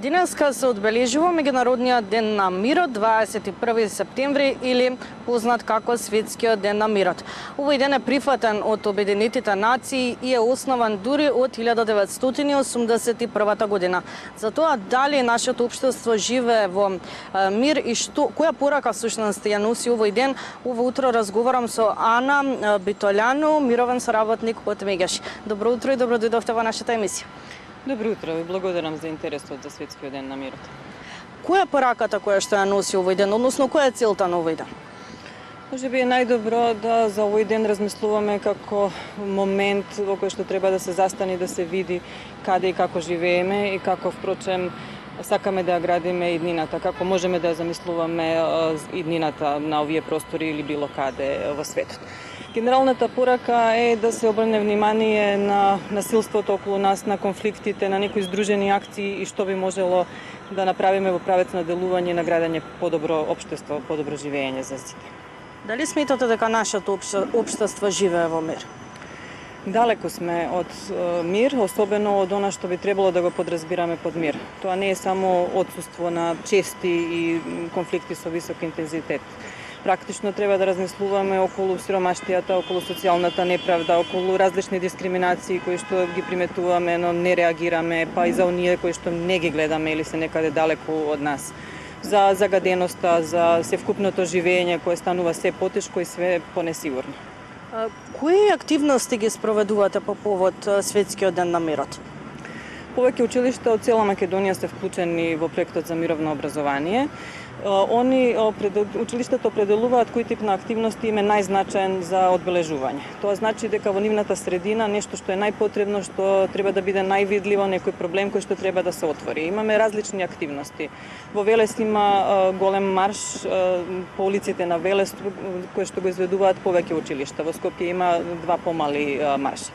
Денеска се одбележува Меѓународниот ден на мирот, 21 септември или познат како Светскиот ден на мирот. Овој ден е прифатен од Обединетите нации и е основан дури од 1981 година. Затоа дали нашето општество живее во мир и која порака всушност ја носи овој ден, ово утро разговарам со Ана Битољану, мировен соработник од Мегеш. Добро утро и добро дојдовте во нашата емисија. Добро утро, ви благодарам за интересот за Светскиот ден на мирот. Која е пораката која што ја носи овој ден, односно која е целта на овој ден? Може би е најдобро да за овој ден размислуваме како момент во кој што треба да се застане и да се види каде и како живееме и како впрочем сакаме да ја градиме иднината, како можеме да ја замислуваме иднината на овие простори или било каде во светот. Генералната порака е да се обрне внимание на насилството околу нас, на конфликтите, на некои здружени акции и што би можело да направиме во правец на делување на градење подобро општество, подобро живење за сите. Дали сметате дека нашето општество живее во мир? Далеко сме од мир, особено од она што би требало да го подразбираме под мир. Тоа не е само отсуство на чести и конфликти со висок интензитет. Практично треба да размислуваме околу сиромаштијата, околу социјалната неправда, околу различни дискриминации кои што ги приметуваме, но не реагираме, па и за оние кои што не ги гледаме или се некаде далеку од нас. За загаденоста, за севкупното живење кое станува се потешко и све понесигурно. Кои активности ги спроведувате по повод Светскиот ден на мирот? Повеќе училишта од цела Македонија се вклучени во проектот за мировно образование. Училиштата определуваат кој тип на активности им е најзначаен за одбележување. Тоа значи дека во нивната средина нешто што е најпотребно, што треба да биде највидливо, некој проблем кој што треба да се отвори. Имаме различни активности. Во Велес има голем марш по улиците на Велес кои што го изведуваат повеќе училишта. Во Скопје има два помали марши.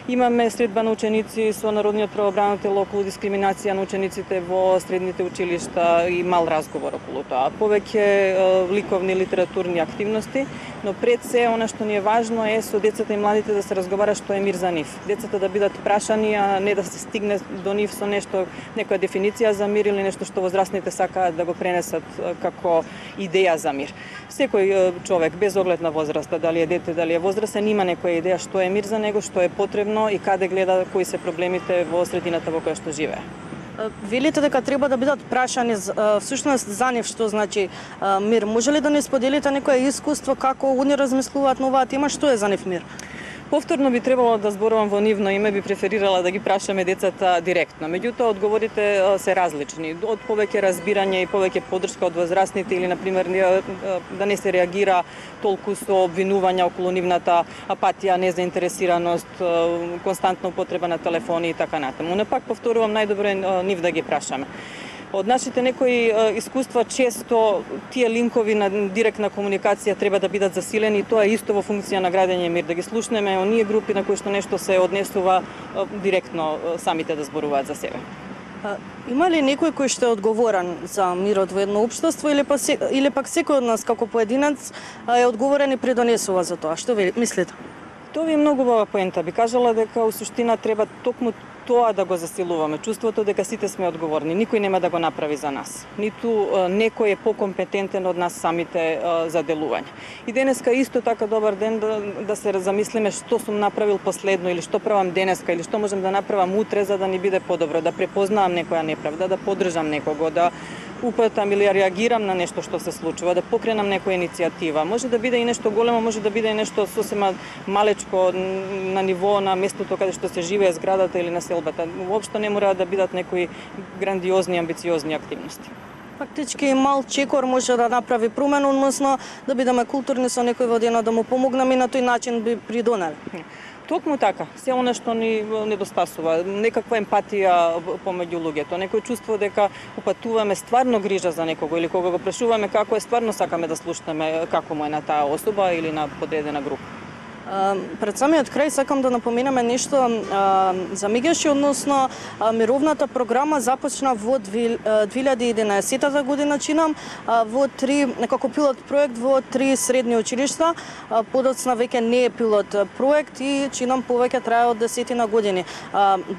Имаме средба на ученици со Народниот правобранител околу дискриминација на учениците во средните училишта и мал разговор околу тоа. Повеќе ликовни литературни активности, но пред се она што ни е важно е со децата и младите да се разговара што е мир за нив. Децата да бидат прашани, а не да се стигне до нив со нешто, некоја дефиниција за мир или нешто што возрастните сакаат да го пренесат како идеја за мир. Секој човек без оглед на возраста, дали е дете, дали е возрастен, има некоја идеја што е мир за него, што е потребно и каде гледа кои се проблемите во средината во која што живее. Велите дека треба да бидат прашани всушност за нив што значи мир. Може ли да не споделите некое искуство како они размислуваат на оваа тема, што е за нив мир? Повторно би требало да зборувам во нивно име, би преферирала да ги прашаме децата директно. Меѓутоа, одговорите се различни. Од повеќе разбирање и повеќе поддршка од возрастните или, например, да не се реагира толку со обвинувања околу нивната апатија, незаинтересираност, константна употреба на телефони и така натаму. Но пак повторувам, најдобро е нив да ги прашаме. Од нашите некои искуства често тие линкови на директна комуникација треба да бидат засилени и тоа е исто во функција на градење мир, да ги слушнеме оние групи на кои што нешто се однесува директно самите да зборуваат за себе. Има ли некој кој што е одговорен за мирот во едно општество или пак секој од нас како поединец е одговорен и придонесува за тоа? Што ви мислите? Тоа ви е многу убава поента. Би кажала дека у суштина треба токму тоа да го засилуваме, чувството дека сите сме одговорни, никој нема да го направи за нас. Ниту некој е покомпетентен од нас самите за делување. И денеска исто така добар ден да се замислиме што сум направил последно или што правам денеска или што можам да направам утре за да ни биде подобро, да препознавам некоја неправда, да поддржам некого, да упатам или реагирам на нешто што се случува, да покренам некоја иницијатива. Може да биде и нешто големо, може да биде и нешто сосема малечко на ниво на местото каде што се живее, зградата или населбата. Воопшто не мора да бидат некои грандиозни, амбициозни активности. Фактички мал чекор може да направи промена, односно да бидеме културни со некој во денот, да му помогнеме и на тој начин би придонели. Токму така, се она што ни недостасува, некаква емпатија помеѓу луѓето, некој чувство дека упатуваме стварно грижа за некого или кога го прашуваме како е, стварно сакаме да слушнеме како му е на таа особа или на подредена група. Пред самиот крај сакам да напоменеме нешто за Мегеши, односно мировната програма започна во 2011 година, чинам, во како пилот проект во 3 средни училишта, подоцна веќе не е пилот проект и чинам повеќе трае од 10 години.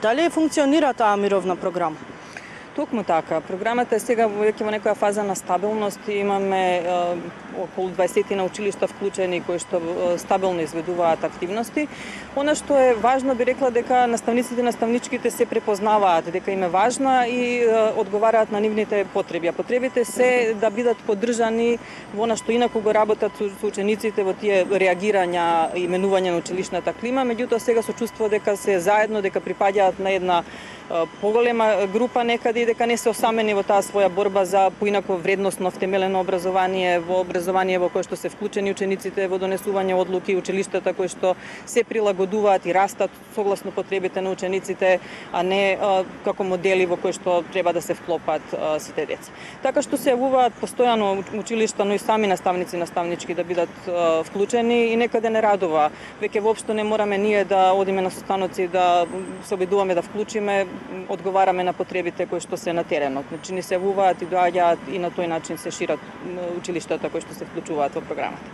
Дали функционира таа мировна програма? Токму така. Програмата е сега веќе во некоја фаза на стабилност. Имаме околу 20 на училишта вклучени кои што стабилно изведуваат активности. Она што е важно, би рекла дека наставниците и наставничките се препознаваат дека им е важна и одговараат на нивните потреби. А потребите се да бидат поддржани во она што инаку го работат со учениците во тие реагирања и менување на училишната клима, меѓутоа сега со чувство дека се заедно, дека припаѓаат на една поголема група некаде и дека не се осамени во таа своја борба за поинако вредносно втемелено образование, во кое што се вклучени учениците во донесување одлуки, училиштата кои што се прилагодуваат и растат согласно потребите на учениците, а не како модели во кои што треба да се вклопат сите деца. Така што се јавуваат постојано училишта, но и сами наставници и наставнички да бидат вклучени и некаде не радува. Веќе воопшто не мораме ние да одиме на состаноци да се обидуваме да вклучиме, одговараме на потребите кои што се на теренот. Значи ни се јавуваат и доаѓаат и на тој начин се шират училиштата кои што се вклучуваат во програмата.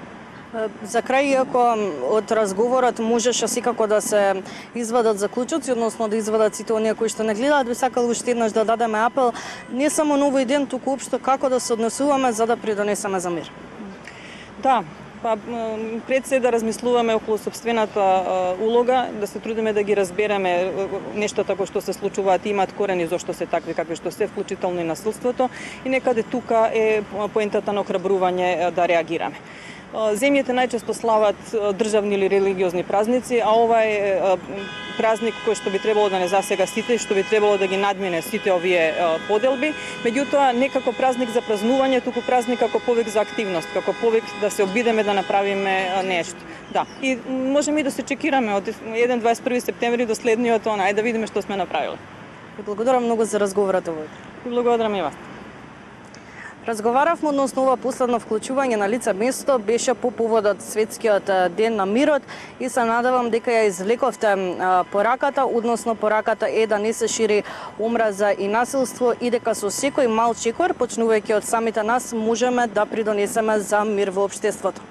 За крај, иако од разговорот можеше секако да се извадат заклучоци, односно да извадат сите оние кои што не гледаат, би сакал уште еднаш да дадеме апел не само на овој ден, туку општо како да се однесуваме за да придонесеме за мир. Да, пред се да размислуваме околу сопствената улога, да се трудиме да ги разбереме нештата кои што се случуваат и имаат корени зошто се такви какви што се, вклучително и насилството, и некаде тука е поентата на охрабрување да реагираме. Земјите најчесто слават државни или религиозни празници, а ова е празник кој што би требало да не засега сите, што би требало да ги надмине сите овие поделби, меѓутоа не како празник за празнување, туку празник како повик за активност, како повик да се обидеме да направиме нешто. Да, и можеме и да се чекираме од 1-21 септември до следниот онај да видиме што сме направиле. Благодарам многу за разговорот овој. Благодарам и вас. Разговаравме односно ова последно вклучување на лице место беше по поводот Светскиот ден на мирот и се надевам дека ја извлековте пораката, односно пораката е да не се шири омраза и насилство и дека со секој мал чекор, почнувајќи од самите нас, можеме да придонесеме за мир во општеството.